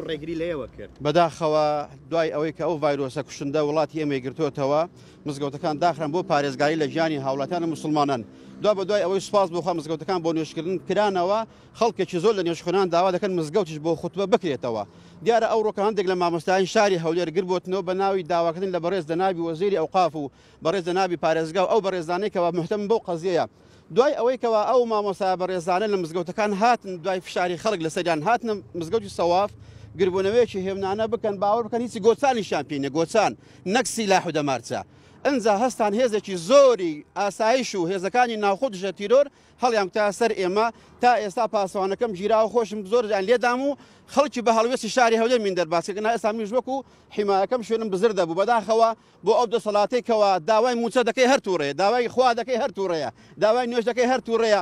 ڕێگری لە ئێوە کرد؟ بەداخەوە دوای ئەوەی کە ئەو ڤایرۆسە کوشندە وڵاتی ئێمەی گرتووەتەوە، مزگەوتەکان داخران بۆ پارێزگاری لە گیانی هاوڵاتیان و موسڵمانان. دوا بەدوای ئەوەی سوپاس بۆ خوا مزگەوتەکان بۆ نوێژکردن کرانەوە، خەڵکێکی زۆر لە نوێژخوێنان داوا دەکەن مزگەوتیش بۆ خوتبە بکرێتەوە. دیارە ئەوڕۆکە هەندێک لە مامۆستایانی شاری هەولێر گربۆتنەوە بە ناوی داواکردن لە بەڕێز جەنابی وەزیری ئەوقاف و بەڕێز جەنابی پارێزگا و ئەو بەڕێزانەی کەوا مهتەمن بەو قەزیەیە. دوای ئەوەی کەوا ئەو مامۆستایە بەڕێزانە لە مزگەوتەکان هاتن دوای فشاری خەڵک لەسەریان هاتنە مزگەوتی سەواف گربوونەوەیەکی هێمنانە بکەن باوەڕ بکەن هیچی گۆچانیشیان پێ نیە گۆچان نەک سیلاح و دەمارچە ئنجا هەستان هێزێکی زۆری ئاسایش و هێزەکانی ناوخۆ دژە تیرۆر هەڵیانکوتایە سەر ئێمە تا ئێستا پاسەوانەکەم گیراوە خۆشم زۆر یان لێدام و خەڵکی بە هەڵوێستی شاری هەولێر من دەرباز کردن ئێستا منیش وەکو حیمایەکەم شوێنم بزر دەبوو بەداخەوە بۆ ئەو دەسەڵاتەی کەوا داوای مووچە دەکەی هەر تووڕەیە، داوای خوا دەکەی هەر تووڕەیە، داوای نوێژ دەکەی هەر تووڕەیە،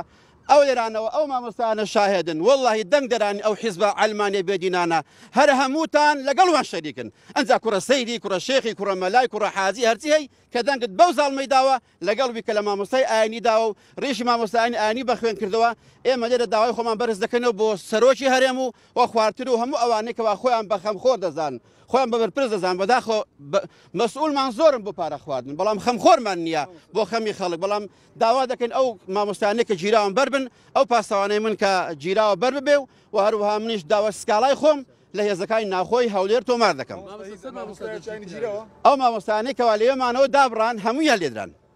ئەو لێرانەوە ئەو مامۆستایانە شاهێدن، وەڵڵاهی دەنگ دەرانی ئەو حیزبە عەلمانیە بێدینانە هەر هەمووتان لەگەڵ وان شەریکن، ئەنجا کوڕە سەیدی، کوڕە شێخی، کوڕە مەلای، کوڕە حاجی هەرچی هەی کە دەنگت بەو زاڵمەی داوە لەگەڵ وی کە لە مامۆستای ئاینی داوە و ڕیشی مامۆستایانی ئاینی بە خوێن کردەوە، ئێمە لێرە داوای خۆمان بەرز دەکەینەوە بۆ سەرۆکی هەرێم و و خوارتر و هەموو ئەوانەی کەوا خۆیان بە خەمخۆر دەزانن خۆیان بە بەرپرس دەزانن بەداخەوە مەسئولمان زۆرن بۆ پارە خواردن بەڵام خەمخۆرمان نییە بۆ خەمی خەڵک بەڵام داوا دەکەین ئەو مامۆستایانەی کە گیراون بەر بن ئەو پاسەوانەی من کە گیراوە بەر ببێ و و هەروەها منیش داوا سکاڵای خۆم لە هێزەکانی ناوخۆی هەولێر تۆمار دەکەم. ئەو مامۆستایانەی کەوا لەوێمانەوە دابڕان هەموویان لێدران.